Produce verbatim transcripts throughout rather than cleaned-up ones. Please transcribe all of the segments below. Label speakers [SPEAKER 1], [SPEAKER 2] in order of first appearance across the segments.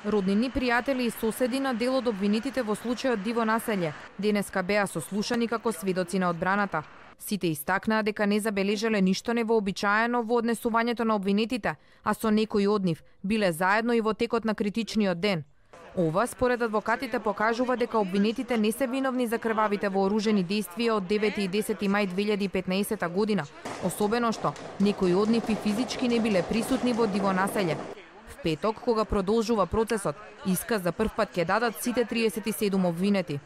[SPEAKER 1] Роднини, пријатели и соседи на дел од обвинетите во случајот Диво населје денеска беа сослушани како сведоци на одбраната. Сите истакнаа дека не забележале ништо невообичаено во однесувањето на обвинетите, а со некои од нив биле заедно и во текот на критичниот ден. Ова, според адвокатите, покажува дека обвинетите не се виновни за крвавите вооружени действија од девети и десети мај две илјади и петнаесета година, особено што некои од нив и физички не биле присутни во Диво населје. В петок, кога продолжува процесот, исказ за прв пат ќе дадат сите триесет и седум обвинети.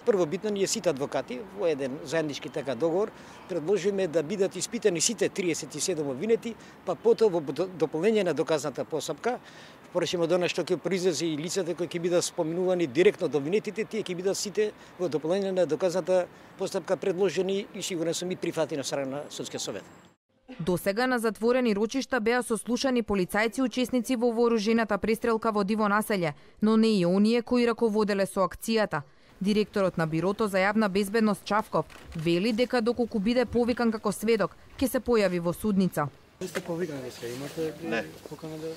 [SPEAKER 2] Првобитно ние сите адвокати во еден заеднички така договор предложиме да бидат испитани сите триесет и седум обвинети, па потоа во дополнение на доказната постапка, поречено до што ќе произлезе и лицата кои ќе бидат споминувани директно од обвинетите, тие ќе бидат сите во дополнение на доказната постапка предложени и сигурен сум и прифатени на страна на судскиот совет.
[SPEAKER 1] Досега на затворени рочишта беа сослушани полицајци учесници во вооружената престрелка во Диво населје, но не и оние кои раководеле со акцијата. Директорот на Бирото за јавна безбедност Чавков вели дека доколку биде повикан како сведок, ќе се појави во судница.
[SPEAKER 3] Ви сте повикани да се имате
[SPEAKER 4] не
[SPEAKER 3] покана да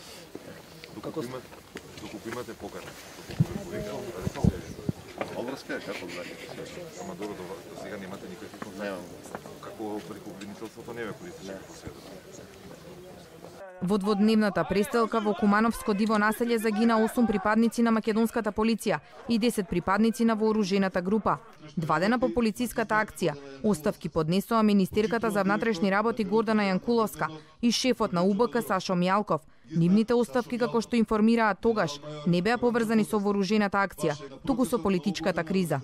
[SPEAKER 4] доколку имате доколку имате покана. Обврска е како знаете. Ама добро до сега немате никакви контакти. Како преку обвинителството не ве користите како сведок.
[SPEAKER 1] Во дводневната престрелка во Кумановско Диво населје загина осум припадници на македонската полиција и десет припадници на вооружената група. Два дена по полициската акција, оставки поднесоа министерката за внатрешни работи Гордана Јанкуловска и шефот на У Б К Сашо Мјалков. Нивните оставки, како што информираат тогаш, не беа поврзани со вооружената акција, туку со политичката криза.